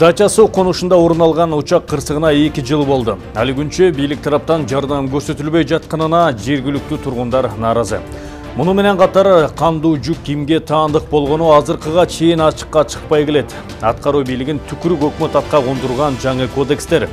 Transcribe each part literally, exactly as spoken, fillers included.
Дача суу конушунда орун алган учак кырсыгына эки жыл болду. Али күнчө бийлик тараптан жардам көрсөтүлбөй жатканына жергиликтүү тургундар нааразы. Муну менен катар кандуу жүк кимге таандык болгону азыркыга чейин ачыкка чыкпай келет. Аткаруу бийлигин түкүрүк өкмөт атка кондурган жаңы кодекстер.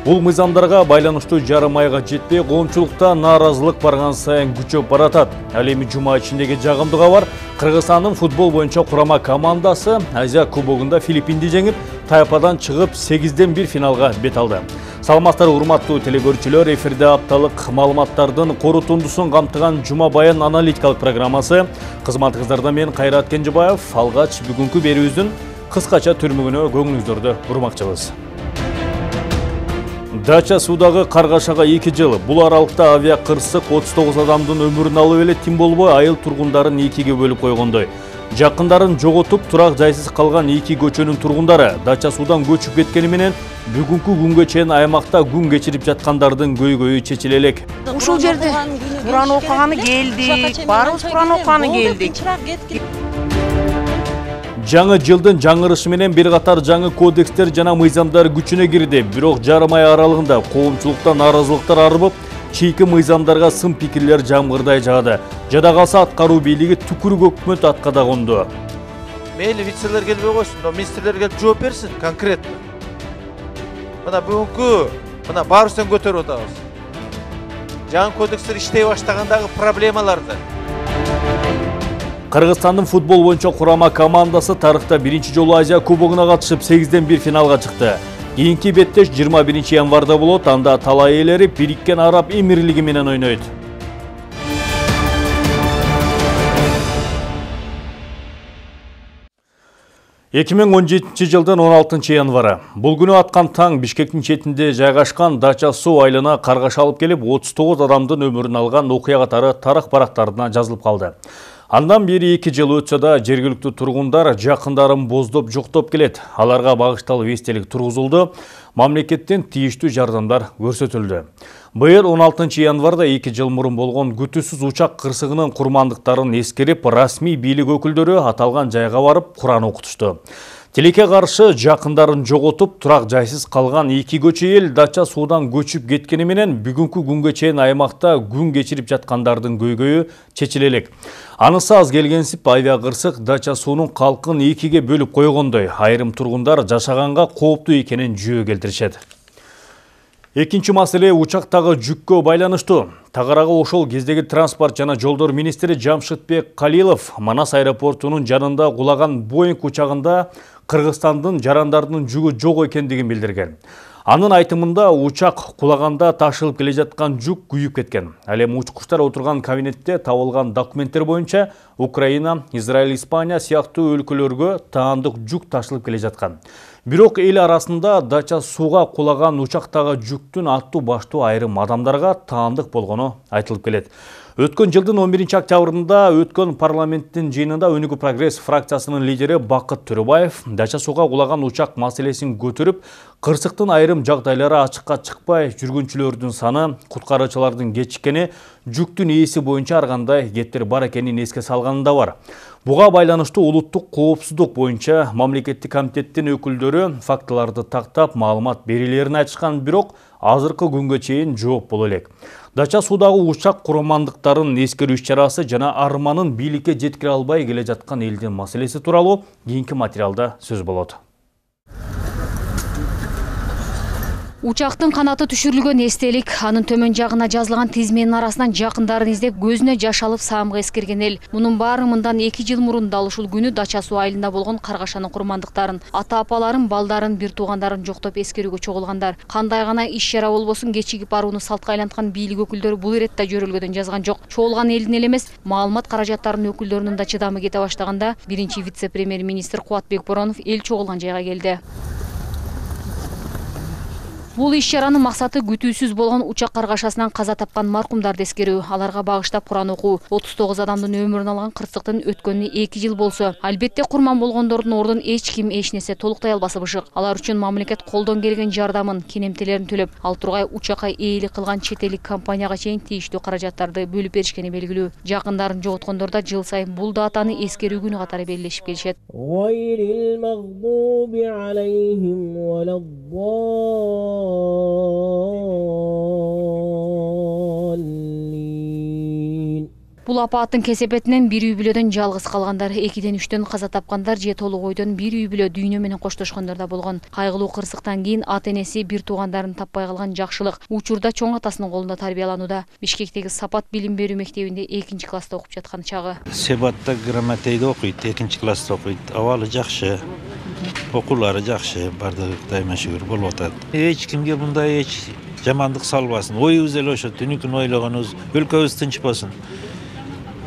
Бул мыйзамдарга байланыштуу жарым айга жетпей коомчулукта нааразылык барган сайын күчөп баратат. Ал эми жума ичиндеги жагымдуу кабар: Кыргызстандын футбол боюнча курама командасы Азия кубогунда Филиппинди жеңип, тайпадан чыгып сегизден бир финалга бет алды. Саламаттар урматтуу телекөрүүчүлөр, эфирде апталык маалыматтардын корутундусун камтыган Жума Баян аналитикалык программасы. Кызматыңыздарда мен Кайрат Кенжебаев. Алгач бүгүнкү берүүбүздүн кыскача түрмөгүнө көңүлүңүздөрдү бурмакчыбыз. Дача суудагы каргашага эки жыл. Бул аралыкта авиа кырсык отуз тогуз адамдын өмүрүн алып эле тим болбой айыл тургундарын экиге бөлүп койгондой. Жакындарын жоготуп, турак жайсыз калган эки көчөнүн тургундары Дача суудан көчүп кеткени менен бүгүнкү күнгө чейин аймакта күн кечирип жаткандардын көйгөйү чечиле элек. Ушул жерде Куран окуганы келдик, баарыбыз Куран окуганы келдик. Жаңы жылдын жаңырышы менен бир катар жаңы кодекстер жана мыйзамдар күчүнө кирди. Бирок жарым ай аралыгында коомчулукта нааразылыктар арбып, чийки мыйзамдарга сын пикирлер жамгырдай жаады. Жада калса аткаруу бийлиги түкүрүк өкмөт атка да конду. Мейли вицелер келбей койсун, но министрлер келип жооп берсин конкретно. Мына бүгүнкү мына баарыбыздан көтөрүп атабыз. Жаңы кодекстер иштей баштагандагы проблемаларды. Кыргызстандын футбол боюнча курама командасы тарыхта биринчи жолу Азия кубогуна катышып сегизден бир финалга чыкты. Кийинки беттеш жыйырма биринчи январда болот. Анда талай ээлери Бириккен Араб Эмирлиги менен ойнойт. эки миң он жетинчи жылдын он алтынчы январы. Бул күнү аткан таң Бишкектин четинде жайгашкан Дача суу айылына каргаш алып келип, отуз тогуз адамдын өмүрүн алган окуя катары тарых барактарына жазылып калды. Андан бери эки жыл өтсө да жергиликтүү тургундар жакындарын боздоп жоктоп келет. Аларга багышталып эстелик тургузулду, мамлекеттен тийиштүү жардамдар көрсөтүлдү. Быйыл он алтынчы январда эки жыл мурун болгон күтүүсүз учак кырсыгынын курмандыктарын эскерип, расмий бийлик өкүлдөрү аталган жайга барып Куран окутушту. Тилекке каршы жакындарын жоготуп, турак жайсыз калган эки көчө эл Дача суудан көчүп кеткени менен бүгүнкү күнгө чейин аймакта күн кечирип жаткандардын көйгөйү чечиле элек. Анысы аз келгенсип, авиа кырсык Дача суунун калкын экиге бөлүп койгондой. Айрым тургундар жашаганга кооптуу экенин жүйө келтиришет. Экинчи маселе учактагы жүккө байланыштуу. Тагырага ошол кездеги транспорт жана жолдор министри Жамшытбек Калилов Манас аэропортунун жанында кулаган Боинг учагында Кыргызстандын жарандардын жүгү жок экендигин билдирген. Анын айтымында учак кулаганда ташылып келе жаткан жүк күйүп кеткен. Ал эми учкучтар отурган кабинетте табылган документтер боюнча Украина, Израиль, Испания сыяктуу өлкөлөргө таандык жүк ташылып келе жаткан. Бирок эл арасында Дача сууга кулаган учактагы жүктүн аттуу баштуу айрым адамдарга таандык болгону айтылып келет. Өткөн жылдын он биринчи октябрында өткөн парламенттин жыйынында Өнүгүү прогресс фракциясынын лидери Бакыт Төрөбаев Дача сууга кулаган учак маселесин көтөрүп, кырсыктын айрым жагдайлары ачыкка чыкпай жүргүнчүлөрдүн саны, куткаруучулардын кечиккени, жүктүн ээси боюнча ар кандай кептер бар экенин эске салганында бар. Буга байланыштуу улуттук коопсуздук боюнча мамлекеттик комитеттин өкүлдөрү фактыларды тактап маалымат берилерин айтышкан, бирок азыркы күнгө чейин жооп боло элек. Дача суудагы учак курмандыктарын эскерүү иш-чарасы жана арманын бийликке жеткире албай келе жаткан элдин маселеси тууралуу кийинки материалда сөз болот. Учактын канаты түшүрүлгөн эстелик, анын төмөн жагына жазылган тизменин арасынан жакындарын издеп көзүнө жаш алып саамга эскерген эл. Мунун баары мындан эки жыл мурун дал ушул күнү Дача суу айылында болгон каргашанын курмандыктарын, ата-апаларын, балдарын, бир туугандарын жоктоп эскерүүгө чогулгандар. Кандай гана иш-чара болбосун кечигип барууну салтка айланткан бийлик өкүлдөрү бул иретте жөрөлгөдөн жазган жок. Чогулган элдин эле эмес, маалымат каражаттарынын өкүлдөрүнүн да чыдамы кете баштаганда биринчи вице-премьер-министр Кубатбек Боронов эл чогулган жайга келди. Бул иш-чаранын максаты күтүүсүз болгон учак каргашасынан каза тапкан маркумдарды эскерүү. Аларга багыштап Куран окуу. отуз тогуз адамдын өмүрүн алган кырсыктын өткөнүнө эки жыл болсо, албетте курман болгондордун ордун эч ким эч нерсе толуктай албасы бышык. Алар үчүн мамлекет колдон келген жардамын, кенемтелерин төлөп, ал тургай учакка ээлик кылган чет элдик компанияга чейин тийиштүү каражаттарды бөлүп беришкени белгилүү. Жакындарын жоготкондор да жыл сайын бул датаны эскерүү күнү катары белгилешип келишет. Бул апааттын кесепетинен бир үй бүлөдөн жалгыз калгандар, экиден үчтөн каза тапкандар же толук ойдон бир үй бүлө дүйнө менен коштошкондор да болгон. Кайгылуу кырсыктан кийин ата энеси бир туугандарын таппай калган Жакшылык учурда чоң атасынын колунда тарбияланууда. Бишкектеги Сапат билим берүү мектебинде экинчи класста окуп жаткан чагы. Себатта грамотейде окуйт, экинчи класста окуйт. Абалы жакшы, окуулары жакшы, бардыгы дайыма шүгүр болуп атат. Эч кимге мындай эч жамандык салбасын. Оюбуз эле ошо, түнүкүн ойлогонубуз, өлкөбүз тынчпасын.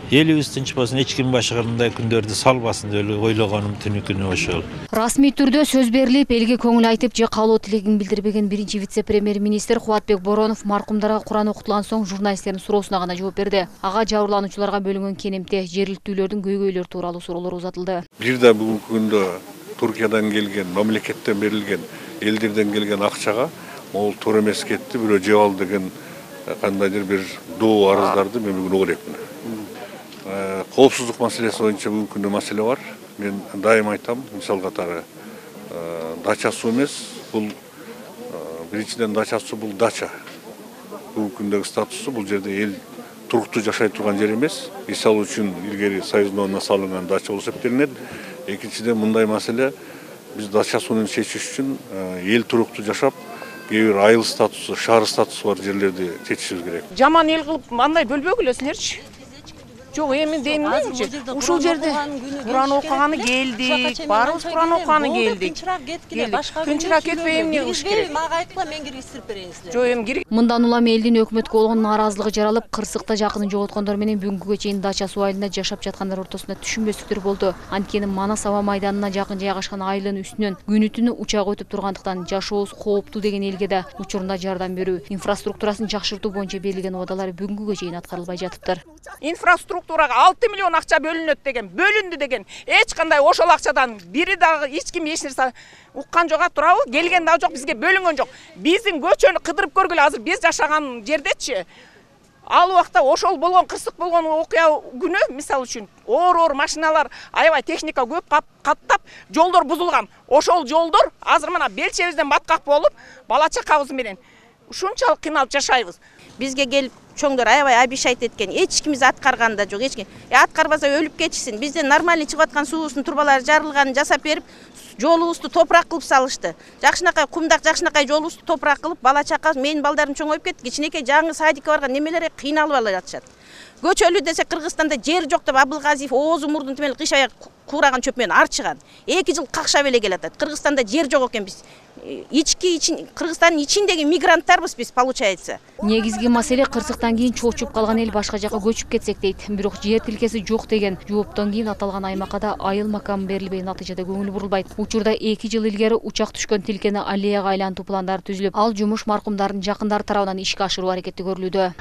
Элибиз тынчпасын, эч ким башка мындай күндөрдү салбасын деп ойлогонум түнүкүнү ошол. Расмий түрдө сөз берилип, элге көңүл айтып же каалоо тилегин билдирбеген биринчи вице-премьер-министр Кубатбек Боронов маркумдарга Куран окутулган соң журналисттердин суроосуна гана жооп берди. Ага жабырлануучуларга бөлүнгөн кенемте, жергиликтүүлөрдүн көйгөйлөрү тууралуу суроолор узатылды. Бир да бүгүнкү күндө Туркиядан келген, мамлекеттен берилген, элдерден келген акчага могул туура эмес кетти, бирөө жеп ал деген кандайдыр бир доо арыздарды мен бүгүн угуп элемин. Коопсуздук маселеси боюнча бүгүнкү күндө маселе бар. Мен дайым айтам, мисал катары дача суу эмес, бул биринчиден дача суу бул дача. Бүгүнкү күндөгү статусу бул жерде эл туруктуу жашай турган жер эмес. Мисал үчүн илгери Союзновна салынган дача болуп эсептелинет. Экинчиден мындай маселе, биз дача суунун чечиш үчүн эл туруктуу жашап, кээ бир айыл статусу, шаар статусу бар жерлерди чечишибиз керек. Жаман эл кылып андай бөлбөгүлөсүңөрчү. Жок, эми дейм эмнечи? Ушул жерде Куран окуганы келдик, баарыбыз Куран окуганы келдик. Тынчыраак кетпей эмне кылыш керек? Мага айткыла, мен киргизип берейинизди. Жок, эми кир. Мындан улам элдин өкмөткө болгон нааразылыгы жаралып, кырсыкта жакынын жоготкондор менен бүгүнкүгө чейин дача суу айылында жашап жаткандар ортосунда түшүнбөстүктөр болду. Анткени Манас аба майданына жакын жайгашкан айылдын үстүнөн күнү түнү учак өтүп тургандыктан жашообуз кооптуу деген элге да учурунда жардам берүү, инфраструктурасын жакшыртуу боюнча берилген убадалар бүгүнкүгө чейин аткарылбай жатыптыр. Инфраструктурага алты миллион акча бөлүнөт деген, бөлүндү деген. Эч кандай ошол акчадан бири дагы эч ким эч нерсе уккан жок, турабы? Келген да жок, бизге бөлүнгөн жок. Биздин көчөнү кыдырып көргүлө, азыр биз жашаган жердечи. Ал убакта ошол болгон кырсык болгон окуя күнү, мисалы үчүн, оор-оор машиналар, аябай техника көп каттап, жолдор бузулган. Ошол жолдор азыр мына белчебизден баткак болуп, бала чакабыз менен ушунчалык кыйналып жашайбыз. Бизге келип чоңдор аябай обещать эткен, эч кимиз аткарган да жок, эч ким. Аткарбаса өлүп кетишсин. Бизден нормальный чыгып аткан суубуздун турбалары жарылганын жасап берип, жолубузду топурак кылып салышты. Жакшынакай кумдак, жакшынакай жолубузду топурак кылып, бала чака, менин балдарым чоңоюп кетти. Кичинекей жаңы садикке барган немелер кыйналып ала жатышат. Көчөлүү десе Кыргызстанда жер жок деп Абылгазиев оозу мурдун түмел кыш аяк куураган чөп менен арчыган. эки жыл какшап эле келатат. Кыргызстанда жер жок экен, биз ички ичин Кыргызстандын ичиндеги мигранттарбыз биз, получается. Негизги маселе кырсыктан кийин чоочуп калган эл башка жака көчүп кетсек дейт. Бирок жер тилкеси жок деген жооптон кийин аталган аймакка да айыл макам берилбей, натыйжада көңүл бурулбайт. Учурда эки жыл илгери учак түшкөн тилкени аллеяга айлантуу пландары түзүлүп, ал жумуш маркумдардын жакындары тарабынан ишке ашыруу аракети көрүлүүдө.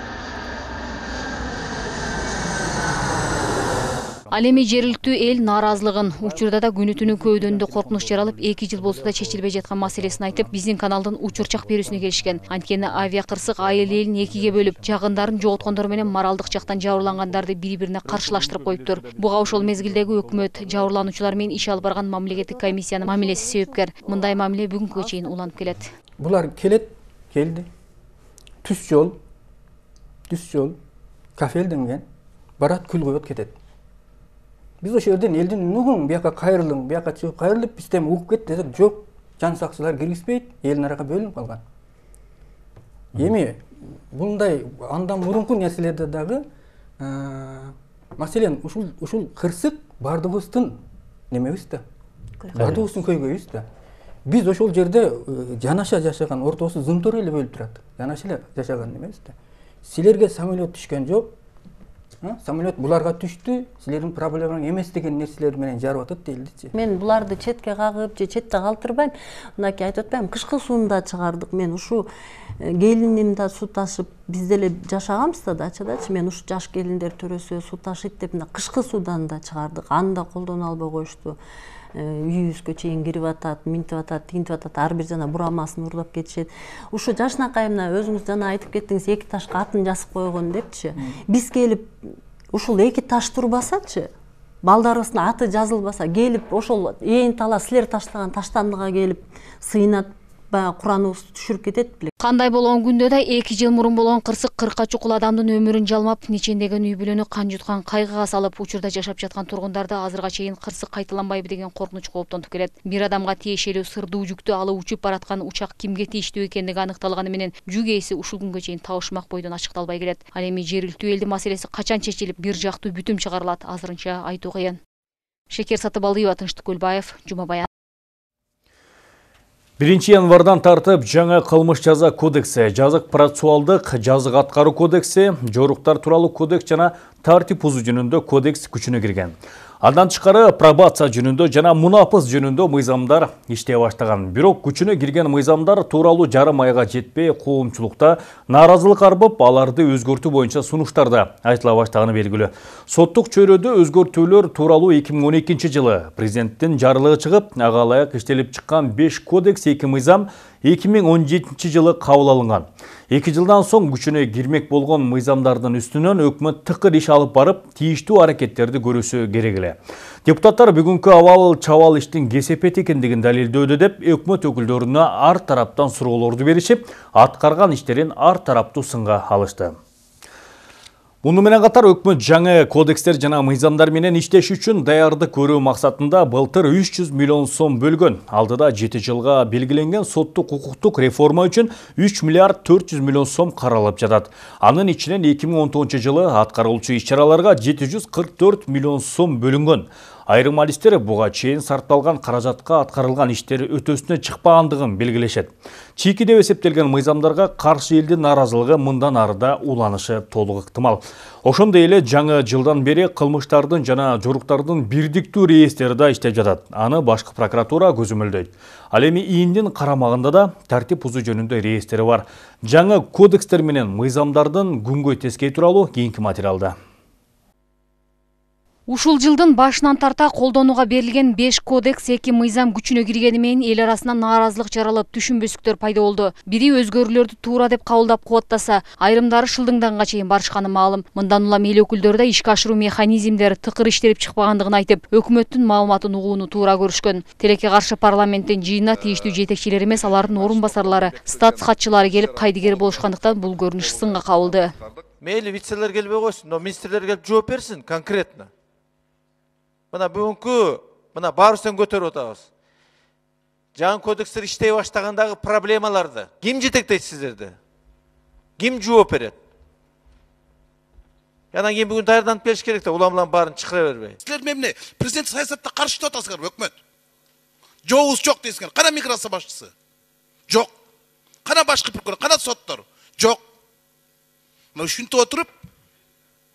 Ал эми жергиликтүү эл нааразылыгын, учурда да күнү түнү көөдөнүндө коркунуч жаралып, эки жыл болсо да чечилбей жаткан маселесин айтып, биздин каналдын учурчак берүүсүнө келишкен. Анткени авиа кырсык айыл элин экиге бөлүп, жакындарын жоготкондор менен моралдык жактан жабырлангандарды бири-бирине каршылаштырып коюптур. Буга ошол мезгилдеги өкмөт, жабырлануучулар менен иш алып барган мамлекеттик комиссиянын мамилеси себепкер. Мындай мамиле бүгүнкүгө чейин уланып келет. Булар келет, келди. Түз жол, түз жол, кафелденген, барат күл коет кетет. Биз ошол жерден элдин нугун бияка кайрылың, бияка чыгып кайрылып, бизден угуп кет десек, жок, жан сакчылар киргизбейт, элдин аракка бөлүнүп калган. Эми мындай андан мурунку нерселерде дагы, маселен, ушул ушул кырсык бардыгыбыздын немебиз да. Бардыгыбыздын көйгөйүбүз да. Биз ошол жерде жанаша жашаган, ортосу зымтор эле бөлүп турат. Жанаша эле жашаган немебиз да. Силерге самолет түшкөн жок. Самолет буларга түштү, силердин проблемаң эмес деген нерселер менен жарып атат дейилдичи. Мен буларды четке кагып же четте калтырбайм. Мынакей айтып атпаймынбы, кышкы сууну да чыгардык. Мен ушу келиним да суу ташып, биз деле жашаганбыз да дачадачы. Мен ушу жаш келиндер төрөсө суу ташыйт деп мына кышкы суудан да чыгардык. Аны да колдоно албай коюшту. Үйүбүзгө чейин кирип атат, минтип атат, тигинтип атат, ар бир жана бурамасын урлап кетишет. Ушу жашынакай мына өзүңүз жана айтып кеттиңиз, эки ташка атын жазып койгон депчи. Биз келип ушул эки таш турбасачы, балдарыбыздын аты жазылбаса, келип ошол ээн тала силер таштаган таштандыга келип сыйнат, баягы Кураныбызды түшүрүп кетет беле. Кандай болгон күндө да эки жыл мурун болгон кырсык кыркка чукул адамдын өмүрүн жалмап, нечендеген үй бүлөнү кан жуткан кайгыга салып, учурда жашап жаткан тургундарды азырга чейин кырсык кайталанбайбы деген коркунуч кооптонуп келет. Бир адамга тиешелүү сырдуу жүктү алып учуп бараткан учак кимге тийиштүү экендиги аныкталганы менен жүк ээси ушул күнгө чейин табышмак бойдон ачыкталбай келет. Ал эми жерилтүү элдин маселеси качан чечилип, бир жактуу бүтүм чыгарылат, азырынча айтуу кыйын. Шекер Сатыбалдиева, Тынчтык Көлбаев, Жума Баян. биринчи январдан тартып жаңа кылмыш жаза кодекси, жазык процессуалдык, жазык аткаруу кодекси, жоруктар тууралуу кодекс жана тартип бузуу жөнүндө кодекс күчүнө кирген. Андан тышкары пробация жөнүндө жана мунапыс жөнүндө мыйзамдар иштей баштаган. Бирок күчүнө кирген мыйзамдар тууралуу жарым айга жетпей, коомчулукта нааразылык арбып, аларды өзгөртүү боюнча сунуштарда айтыла баштаганы белгилүү. Соттук чөйрөдө өзгөртүүлөр тууралуу эки миң он экинчи жылы президенттин жарлыгы чыгып, ага ылайык иштелип чыккан беш кодекс, эки мыйзам эки миң он жетинчи жылы кабыл алынган. эки жылдан соң күчүнө кирмек болгон мыйзамдардын үстүнөн өкмөт тыкыр иш алып барып, тийиштүү аракеттерди көрүүсү керек эле. Депутаттар бүгүнкү абал чабал иштин кесепет экендигин далилдөөдө деп өкмөт өкүлдөрүнө ар тараптан суроолорду беришип, аткарган иштерин ар тараптуу сынга алышты. Муну менен катар өкмөт жаңы кодекстер жана мыйзамдар менен иштеш үчүн даярдык көрүү максатында былтыр үч жүз миллион сом бөлгөн. Алдыда жети жылга белгиленген соттук укуктук реформа үчүн үч миллиард төрт жүз миллион сом каралып жатат. Анын ичинен эки миң он тогузунчу жылы аткарылуучу иш-чараларга жети жүз кырк төрт миллион сом бөлүнгөн. Айрым адистер буга чейин сарпталган каражатка аткарылган иштер өтөсүнө чыкпагандыгын белгилешет. Чийки деп эсептелген мыйзамдарга каршы элдин нааразылыгы мындан арыда уланышы толук ыктымал. Ошондой эле жаңы жылдан бери кылмыштардын жана жоруктардын бирдиктүү реестри да иштеп жатат. Аны башкы прокуратура көзөмөлдөйт. Ал эми ИИНдин карамагында да тартип бузуу жөнүндө реестри бар. Жаңы кодекстер менен мыйзамдардын күнгөй тескей тууралуу кийинки материалда. Ушул жылдын башынан тарта колдонууга берилген беш кодекс, эки мыйзам күчүнө киргени менен эл арасынан нааразылык жаралып, түшүнбөстүктөр пайда болду. Бири өзгөрүүлөрдү туура деп кабылдап кубаттаса, айрымдары шылдыңданга чейин барышканы маалым. Мындан улам эл өкүлдөрү да ишке ашыруу механизмдери тыкыр иштелип чыкпагандыгын айтып, өкмөттүн маалыматын угууну туура көрүшкөн. Тилекке каршы парламенттин жыйынына тийиштүү жетекчилер эмес, алардын орун басарлары, статс катчылары келип кайдыгер болушкандыктан бул көрүнүш сынга кабылды. Мейли вицелер келбей койсун, но министрлер келип жооп берсин конкретно. Мына бүгүнкү мына баарыбыздан көтөрүп атабыз. Жаңы кодекстер иштей баштагандагы проблемаларды ким жетектейт сиздерди? Ким жооп берет? Анан кийин бүгүн даярданып келиш керек да, улам-улам баарын чыкыра бербей. Силер эмне президент саясатта каршы деп атасыңар, өкмөт. Жообуз жок дейсиңер. Кана миграция башчысы? Жок. Кана башкы прокурор, кана соттор? Жок. Мына ушинтип отуруп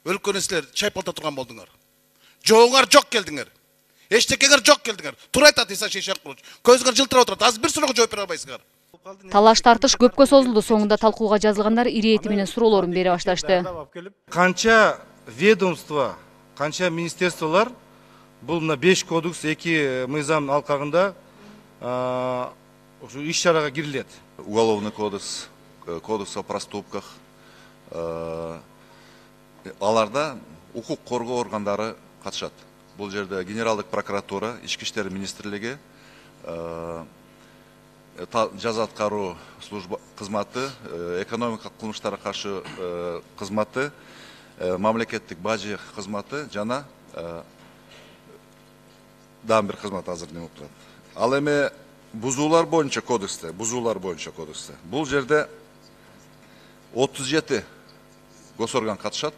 өлкөнү силер чайпалта турган болдуңар. Жоңар жок келдиңер. Эчтекеңер жок келдиңер. Тура айтат Иса Шейшакулович. Көзүңөр жылтырап отурат. Азыр бир суроого жооп бере албайсыңар. Талаш тартыш көпкө созулду. Соңунда талкууга жазылгандар ирети менен суроолорун бере башташты. Канча ведомство, канча министерстволор бул мына беш кодекс, эки мыйзам алкагында ушу иш-чарага кирилет. Уголовный кодекс, кодекс о проступках. Аларда укук коргоо органдары катышат. Бул жерде Генералдык прокуратура, Ички иштер министрлиги, жаза аткаруу служба кызматы, экономикалык кылмыштарга каршы кызматы, мамлекеттик бажы кызматы жана дагы бир кызмат азыр неме болуп турат. Ал эми бузуулар боюнча кодексте, бузуулар боюнча кодексте. Бул жерде отуз жети госорган катышат.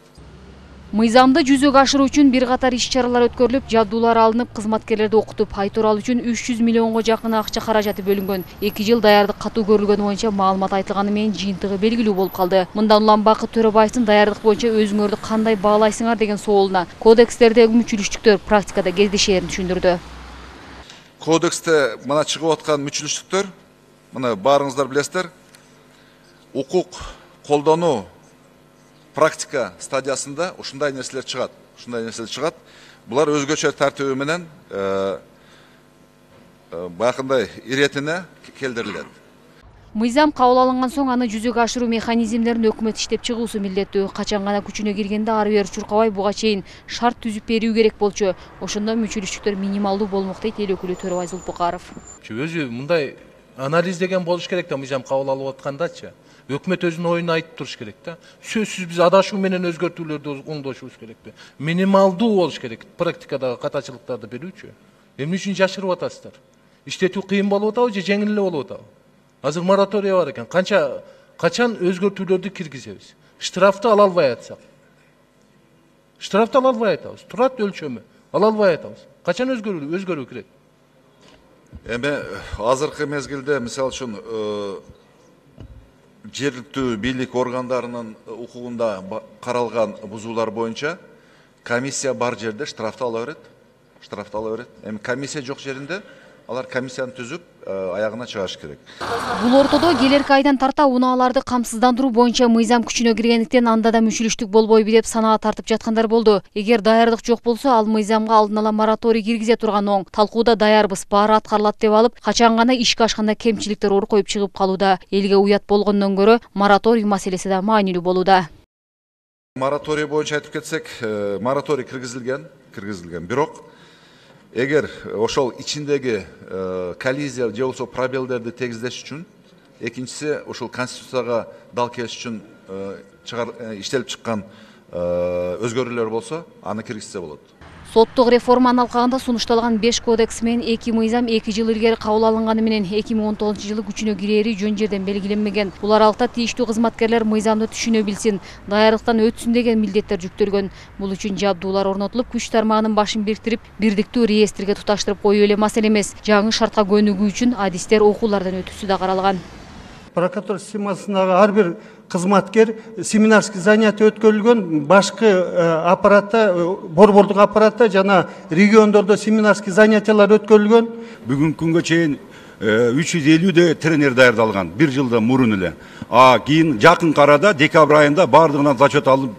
Мыйзамды жүзөгө ашыруу үчүн бир катар иш-чаралар өткөрүлүп, жабдуулар алынып, кызматкерлерди окутуп, ай тууралуу үчүн үч жүз миллионго жакын акча каражаты бөлүнгөн. эки жыл даярдык катуу көрүлгөнү боюнча маалымат айтылганы менен жыйынтыгы белгилүү болуп калды. Мындан улам Бакыт Төрөбаевдин даярдык боюнча өзүңөрдү кандай баалайсыңар деген соолуна кодекстердеги мүчүлүштүктөр практикада кездешээрин түшүндүрдү. Кодексте мына чыгып аткан мүчүлүштүктөр, мына баарыңыздар билесиздер, укук колдонуу практика стадиясында ушундай нерселер чыгат. Ушундай нерселер чыгат. Булар өзгөчө тартиби менен бакындай иретине келдирилет. Мыйзам кабыл алынган соң аны жүзөгө ашыруу механизмдерин өкмөт иштеп чыгуусу милдеттүү. Качан гана күчүнө киргенде ары бери чуркабай буга чейин шарт түзүп берүү керек болчу. Ошондо мүчүлүштүктөр минималдуу болмок дейт эл өкүлү Төрөбай Зулпукаров. Өзү мындай анализ деген болуш керек да, мыйзам кабыл алып аткандачы. Өкмөт өзүнүн оюн айтып туруш керек да. Сөзсүз биз адашуу менен өзгөртүүлөрдү оңдошубуз керек да. Минималдуу болуш керек практикадагы катачылыктарды берүүчү. Эмне үчүн жашырып атасыздар? Иштетүү кыйын болуп атабы же жеңил эле болуп атабы? Азыр мораторий бар экен. Канча качан өзгөртүүлөрдү киргизебиз? Штрафты ала албай атсак. Штрафты ала албай атабыз. Турат өлчөмү. Ала албай атабыз. Качан өзгөрүү өзгөрүү керек? Эми азыркы мезгилде мисалы үчүн жергиликтүү бийлик органдарынын укугунда каралган бузуулар боюнча комиссия бар жерде штрафты ала берет. Штрафты ала берет. Эми комиссия жок жеринде алар комиссияны түзүп аягына чыгыш керек. Бул ортодо келерки айдан тарта унааларды камсыздандыруу боюнча мыйзам күчүнө киргендиктен анда да мүчүлүштүк болбойбу деп санаа тартып жаткандар болду. Эгер даярдык жок болсо, ал мыйзамга алдын ала мораторий киргизе турган оң. Талкууда даярбыз, баары аткарылат деп алып, качан гана ишке ашканда кемчиликтер ор коюп чыгып калууда. Элге уят болгондон көрө мораторий маселеси да маанилүү болууда. Мораторий боюнча айтып кетсек, мораторий киргизилген, киргизилген. Бирок эгер ошол ичиндеги коллизия же болбосо пробелдерди тегиздеш үчүн, экинчиси ошол конституцияга дал келиш үчүн иштелип чыккан өзгөрүүлөр болсо, аны киргизсе болот. Соттук реформанын алкагында сунушталган беш кодекс менен эки мыйзам эки жыл илгери кабыл алынганы менен эки миң он тогузунчу жылы күчүнө кирери жөн жерден белгиленмеген. Бул аралыкта тийиштүү кызматкерлер мыйзамды түшүнө билсин, даярдыктан өтсүн деген милдеттер жүктөлгөн. Бул үчүн жабдуулар орнотулуп, күч тармагынын башын бириктирип, бирдиктүү реестрге туташтырып коюу эле маселе эмес. Жаңы шартка көнүгүү үчүн адистер окуулардан өтүүсү да каралган. Прокуратура системасындагы ар бир кызматкер семинарский занятие өткөрүлгөн, башкы аппаратта, борбордук аппаратта жана региондордо семинарский занятиялар өткөрүлгөн. Бүгүнкү күнгө чейин үч жүз элүүдөй тренер даярдалган, бир жылдан мурун эле. А кийин жакын арада декабрь айында бардыгынан зачет алып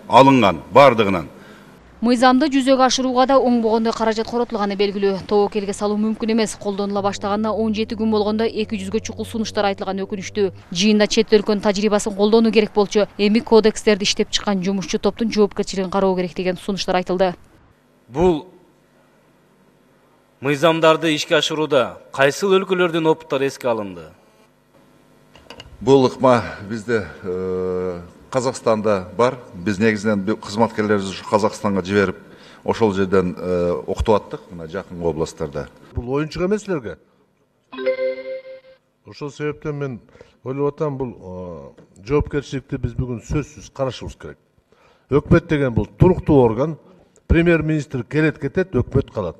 алынган, бардыгынан. Мыйзамды жүзөгө ашырууга да оңбогондой каражат коротулганы белгилүү. Тобокелге салуу мүмкүн эмес. Колдонула баштаганына он жети күн болгондо эки жүзгө чукул сунуштар айтылган өкүнүштүү. Жыйында чет өлкөнүн тажрыйбасын колдонуу керек болчу. Эми кодекстерди иштеп чыккан жумушчу топтун жоопкерчилигин кароо керек деген сунуштар айтылды. Бул мыйзамдарды ишке ашырууда кайсыл өлкөлөрдүн опуттары эске алынды? Бул ыкма бизде Казакстанда бар. Биз негизинен кызматкерлерибизди ушу Казакстанга жиберип, ошол жерден окутуп аттык, мына жакын областтарда. Бул оюнчук эмес силерге. Ошол себептен мен ойлоп атам, бул жоопкерчиликти биз бүгүн сөзсүз карашыбыз керек. Өкмөт деген бул туруктуу орган, премьер-министр келет кетет, өкмөт калат.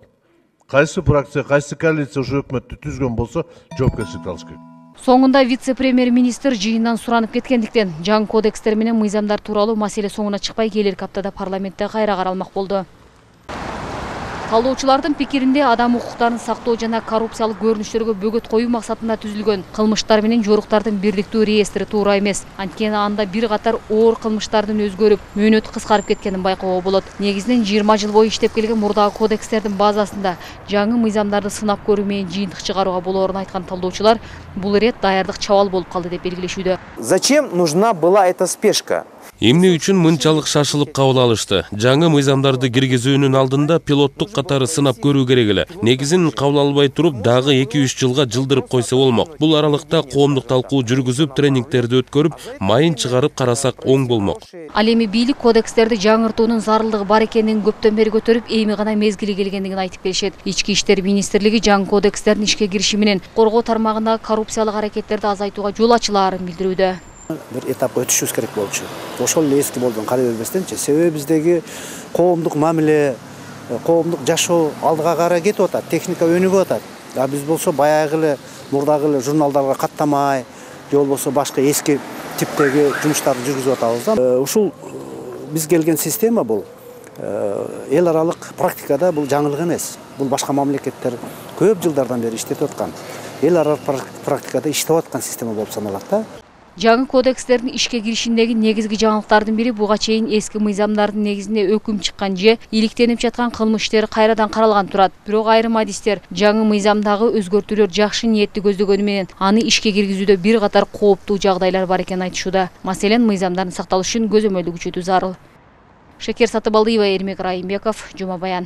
Кайсы фракция, кайсы коалиция ушу өкмөттү түзгөн болсо, жоопкерчиликти алыш керек. Соңунда вице-премьер-министр жыйындан суранып кеткендиктен жаңы кодекстер менен мыйзамдар тууралуу маселе соңуна чыкпай келерки аптада парламентте кайра каралмак болду. Талоочулардын пикиринде адам укуктарын сактоо жана коррупциялык көрүнүштөргө бөгөт коюу максатында түзүлгөн кылмыштар менен жоруктардын бирдиктүү реестри туура эмес. Анткени анда бир катар оор кылмыштардын өзгөрүп, мөөнөтү кыскарып кеткенин байкоого болот. Негизинен жыйырма жыл бою иштеп келген мурдагы кодекстердин базасында жаңы мыйзамдарды сынап көрүү менен жыйынтык чыгарууга болоорун айткан талдоочулар, бул ирет даярдык чабал болуп калды деп белгилешүүдө. Зачем нужна была эта спешка? Эмне үчүн мынчалык шашылып кабыл алышты? Жаңы мыйзамдарды киргизүүнүн алдында пилоттук катары сынап көрүү керек эле. Негизин кабыл албай туруп, дагы эки үч жылга жылдырып койсо болмок. Бул аралыкта коомдук талкуу жүргүзүп, тренингтерди өткөрүп, майын чыгарып карасак оң болмок. Ал эми бийлик кодекстерди жаңыртуунун зарылдыгы бар экенин көптөн бери көтөрүп, эми гана мезгили келгендигин айтып келишет. Ички иштер министрлиги жаңы кодекстердин ишке кириши менен коргоо тармагындагы коррупциялык аракеттерди азайтууга жол ачылаарын билдирүүдө. Бир этапка өтүшүбүз керек болчу. Ошол эле эски болдон карай бербестенчи. Себеби биздеги коомдук мамиле, коомдук жашоо алдыга карай кетип атат, техника өнүгүп атат. А биз болсо баягы эле мурдагы эле журналдарга каттамай, же болбосо башка эски типтеги жумуштарды жүргүзүп атабыз да. Ушул биз келген система бул эл аралык практикада бул жаңылык эмес. Бул башка мамлекеттер көп жылдардан бери иштетип аткан. Эл аралык практикада иштеп аткан система болуп саналат да. Жаңы кодекстердин ишке киришиндеги негизги жаңылыктардын бири буга чейин эски мыйзамдардын негизинде өкүм чыккан же иликтенип жаткан кылмыш иштери кайрадан каралган турат. Бирок айрым адистер жаңы мыйзамдагы өзгөртүүлөр жакшы ниетти көздөгөнү менен аны ишке киргизүүдө бир катар кооптуу жагдайлар бар экенин айтышууда. Маселен, мыйзамдардын сакталышы үчүн көзөмөлдү күчөтүү зарыл. Шекер Сатыбалдиева, Эрмек Райымбеков, Жума Баян.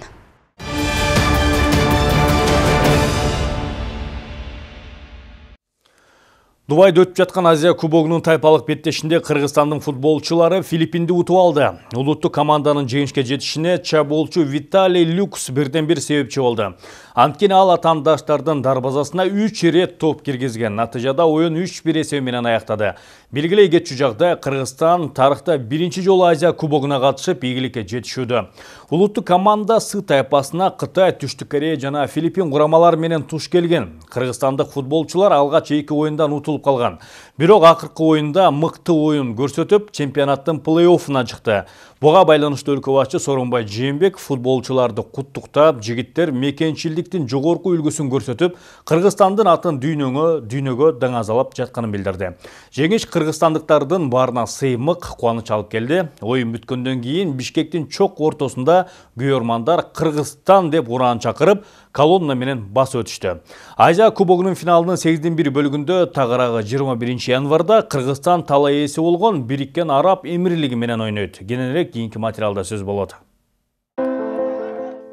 Дубайда өтүп жаткан Азия кубогунун тайпалык беттешинде Кыргызстандын футболчулары Филиппинди утуп алды. Улуттук команданын жеңишке жетишине чабуулчу Виталий Люкс бирден бир себепчи болду. Анткени ал атаандаштардын дарбазасына үч ирет топ киргизген. Натыйжада оюн үч бир эсеби менен аяктады. Белгилей кетчү жагда Кыргызстан тарыхта биринчи жолу Азия кубогуна катышып ийгиликке жетишүүдө. Улуттук команда Сы тайпасына Кытай, Түштүк Корея жана Филиппин курамалары менен туш келген. Кыргызстандык футболчулар алгач эки оюндан утулуп калган. Бирок акыркы оюнда мыкты оюн көрсөтүп, чемпионаттын плей-оффуна чыкты. Буга байланыштуу өлкө башчы Сооронбай Жээнбеков футболчуларды куттуктап, жигиттер мекенчилдиктин жогорку үлгүсүн көрсөтүп, Кыргызстандын атын дүйнөгө дүйнөгө даңазалап жатканын билдирди. Жеңиш кыргызстандыктардын баарына сыймык, кубаныч алып келди. Оюн бүткөндөн кийин Бишкектин чок ортосунда күйөрмандар Кыргызстан деп ураан чакырып, колонна менен басып өтүштү. Азия кубогунун финалынын сегизден бир бөлүгүндө тагыраагы жыйырма биринчи январда Кыргызстан талай ээси болгон Бириккен Араб Эмирлиги менен ойнойт. Кененирээк кийинки материалда сөз болот.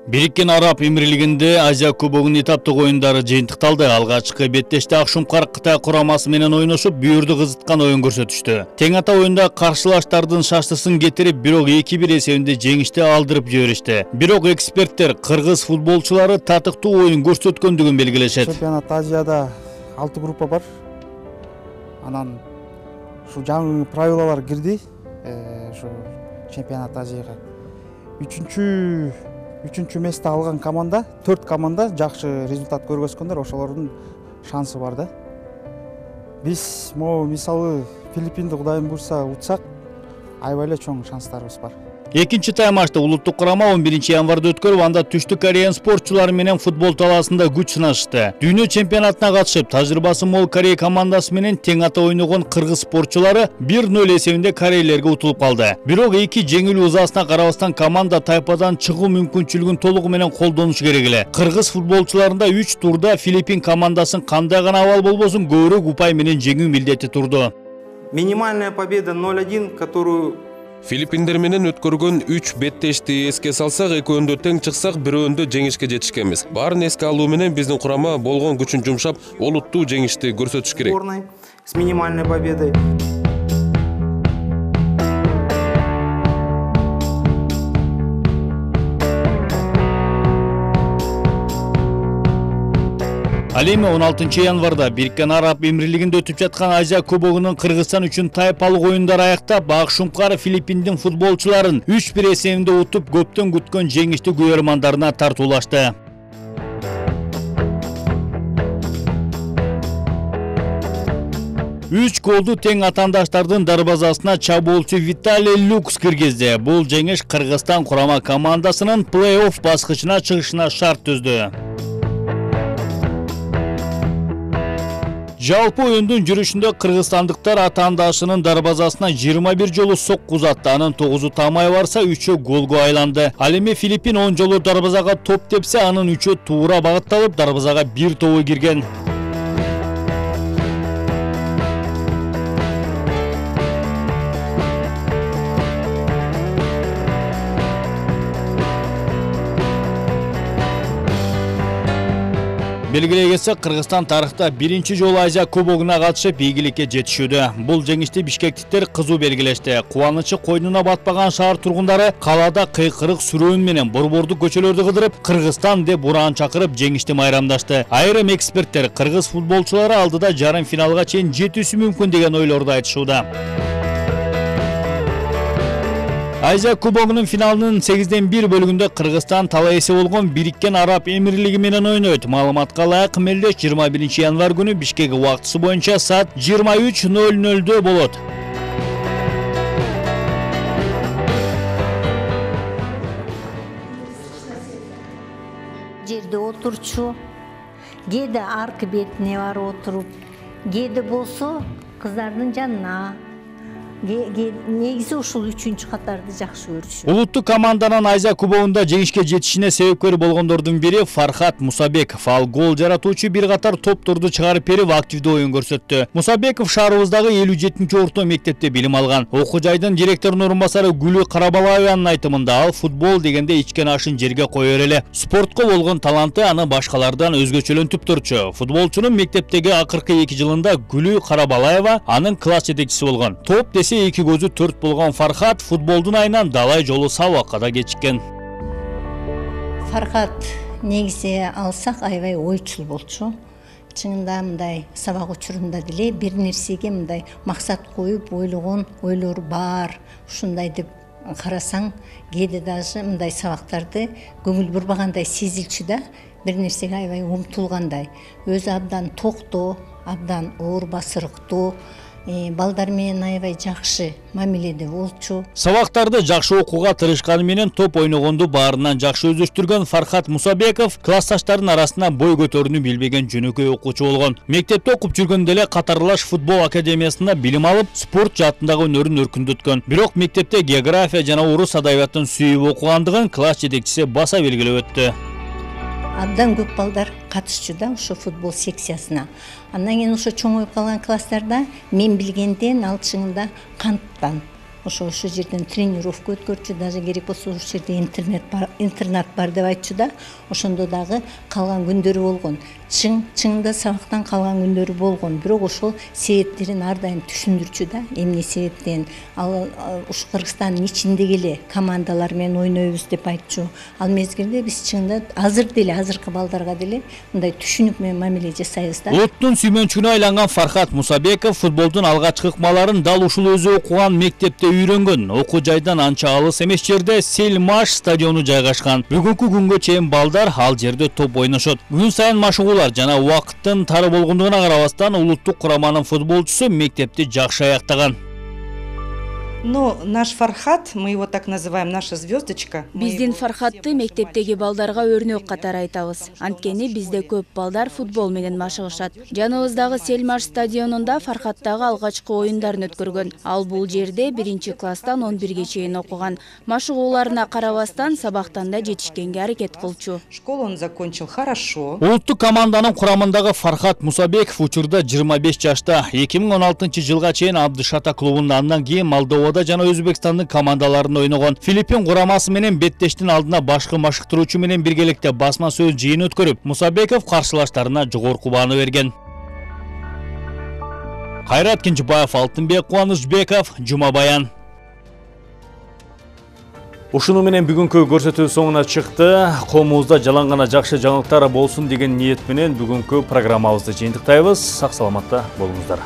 Бириккен Араб Эмирлигинде Азия кубогунун этаптык оюндары жыйынтыкталды. Алгачкы беттеште Акшумкар Кытай курамасы менен ойношуп, бүйүрдү кызыткан оюн көрсөтүштү. Тең ата оюнда каршылаштардын шаштысын кетирип, бирок эки бир эсебинде жеңишти алдырып жиберишти. Бирок эксперттер кыргыз футболчулары татыктуу оюн көрсөткөндүгүн белгилешет. Чемпионат Азияда алты группа бар. Анан ушу жаңы правилалар кирди. Ушу чемпионат Азияга. Үчүнчү үчүнчү месте алган команда, төрт команда жакшы результат көргөзгөндөр, ошолордун шансы бар да. Биз могу мисалы Филиппинди Кудайым буйрса утсак, аябай эле чоң шанстарыбыз бар. Экинчи таймашта улуттук курама он биринчи январда өткөрүп, анда Түштүк Корея спортчулары менен футбол талаасында күч сынашты. Дүйнө чемпионатына катышып, тажрыйбасы мол Корея командасы менен тең ата ойногон кыргыз спортчулары бир ноль эсебинде корейлерге утулуп калды. Бирок эки жеңилүү узасына карабастан команда тайпадан чыгуу мүмкүнчүлүгүн толугу менен колдонуш керек эле. Кыргыз футболчуларында үч турда Филиппин командасын кандай гана абал болбосун көбүрөөк упай менен жеңүү милдети турду. Минимальная победа ноль один, которую Филиппиндер менен өткөргөн үч беттешти эске салсак, экөөндө тең чыксак, бирөөндө жеңишке жетишкенбиз. Баарын эске алуу менен биздин курама болгон күчүн жумшап, олуттуу жеңишти көрсөтүш керек. С минимальной победой. Ал эми он алтынчы январда Бириккен Араб Эмирлигинде өтүп жаткан Азия кубогунун Кыргызстан үчүн тайпалык оюндары аяктап, Акшумкар Филиппиндин футболчуларын үч бир эсебинде утуп, көптөн күткөн жеңишти күйөрмандарына тартуулашты. үч голду тең атаандаштардын дарбазасына чабуулчу Виталий Люкс киргизди. Бул жеңиш Кыргызстан курама командасынын плей-офф баскычына чыгышына шарт түздү. Жалпы оюндун жүрүшүндө кыргызстандыктар атаандашынын дарбазасына жыйырма бир жолу сокку узатты. Анын тогузу тамай барса, үчөө голго айланды. Ал эми Филиппин он жолу дарбазага топ тепсе, анын үчөө туура багытталып, дарбазага бир тобу кирген. Белгилей кетсек, Кыргызстан тарыхта биринчи жолу Азия кубогуна катышып ийгиликке жетишүүдө. Бул жеңишти бишкектиктер кызуу белгилешти. Кубанычы койнуна батпаган шаар тургундары калаада кыйкырык сүрөөн менен борбордук көчөлөрдү кыдырып, Кыргызстан деп ураан чакырып жеңишти майрамдашты. Айрым эксперттер кыргыз футболчулары алдыда жарым финалга чейин жетүүсү мүмкүн деген ойлорду айтышууда. Азия кубогунун финалынын сегизден бир бөлүгүндө Кыргызстан талайсы болгон Бириккен Араб Эмирлиги менен ойнойт. Маалыматка ылайык мелдеш жыйырма биринчи январь күнү Бишкек убактысы боюнча саат жыйырма үч ноль нольдө болот. Жерде отурчу, кээде аркы бетине барып отуруп, кээде болсо кыздардын жанына, негизи ушул үчүнчү катарды жакшы көрүшү. Улуттук команданын Азия кубогунда жеңишке жетишине себепкер болгондордун бири Фархат Мусабеков. Ал гол жаратуучу бир катар топторду чыгарып берип активдүү оюн көрсөттү. Мусабеков шаарыбыздагы элүү жетинчи орто мектепте билим алган. Окуу жайдын директорунун орун басары Гүлү Карабалаеванын айтымында ал футбол дегенде ичкен ашын жерге коёр эле. Спортко болгон таланты аны башкалардан өзгөчөлөнтүп турчу. Футболчунун мектептеги акыркы эки жылында Гүлү Карабалаева анын класс жетекчиси болгон. Топ десе эки көзү төрт болгон Фархат футболдун айынан далай жолу сабакка да кечиккен. Фархат негизи алсак аябай ойчул болчу. Чынында мындай сабак учурунда деле бир нерсеге мындай максат коюп ойлогон ойлору бар. Ушундай деп карасаң, кээде даже мындай сабактарды көңүл бурбагандай сезилчү да, бир нерсеге аябай умтулгандай. Өзү абдан токтоо, абдан оор басырыктуу, балдар менен аябай жакшы мамиледе болчу. Сабактарды жакшы окууга тырышканы менен топ ойногонду баарынан жакшы өздөштүргөн Фархат Мусабеков классташтардын арасында бой көтөрүүнү билбеген жөнөкөй окуучу болгон. Мектепте окуп жүргөндө эле катарлаш футбол академиясында билим алып, спорт жаатындагы өнөрүн өркүндөткөн. Бирок мектепте география жана орус адабиятын сүйүп окугандыгын класс жетекчиси баса белгилеп өттү. Абдан көп балдар катышчу да ошо футбол секциясына. Андан кийин ошо чоңоюп калган класстарда мен билгенден ал чынында канттан ошо ошо жерден тренировка өткөрчү, даже керек болсо ошол жерде интернет бар, интернат бар деп айтчу да. Ошондо дагы калган күндөрү болгон. Чың чыңда сабактан калган күндөрү болгон. Бирок ошол себептерин ар дайым түшүндүрчү да. Эмне себептен ал ушу Кыргызстандын ичиндеги эле командалар менен ойнойбуз деп айтчу. Ал мезгилде биз чыңында азыр деле азыркы балдарга деле мындай түшүнүк менен мамиле жасайбыз да. Улуттун сүймөнчүгүнө айланган Фархат Мусабеков футболдун алгачкы ыкмаларын дал ушул өзү окуган мектепте үйрөнгөн. Окуу жайдан анча алыс эмес жерде Селмаш стадиону жайгашкан. Бүгүнкү күнгө чейин балдар ал жерде топ ойношот. Күн сайын машыгуулар жана убакыттын тары болгондугуна карабастан улуттук кураманын футболчусу мектепти жакшы аяктаган. Но наш Фархат, мы его так называем, наша звездочка. Биздин Фархатты мектептеги балдарга өрнөк катары айтабыз. Анткени бизде көп балдар футбол менен машыгышат. Жаныбыздагы Селмаш стадионунда Фархаттагы алгачкы оюндарын өткөргөн. Ал бул жерде биринчи класстан он бирге чейин окуган. Машыгууларына карабастан сабактан да жетишкенге аракет кылчу. Школу он закончил хорошо. Улуттук команданын курамындагы Фархат Мусабеков учурда жыйырма беш жашта. эки миң он алтынчы жылга чейин Абдышата клубунда, андан кийин Молдова жана Өзбекстандын командаларында ойногон. Филиппин курамасы менен беттештин алдына башкы машыктыруучу менен биргеликте басма сөз жыйын өткөрүп, Мусабеков каршылаштарына жогорку бааны берген. Кайрат Кенжебаев, Алтынбек Кубанычбеков, Жума Баян. Ушуну менен бүгүнкү көрсөтүү соңуна чыкты. Коомубузда жалаң гана жакшы жаңылыктар болсун деген ниет менен бүгүнкү программабызды жыйынтыктайбыз. Сак саламатта болуңуздар.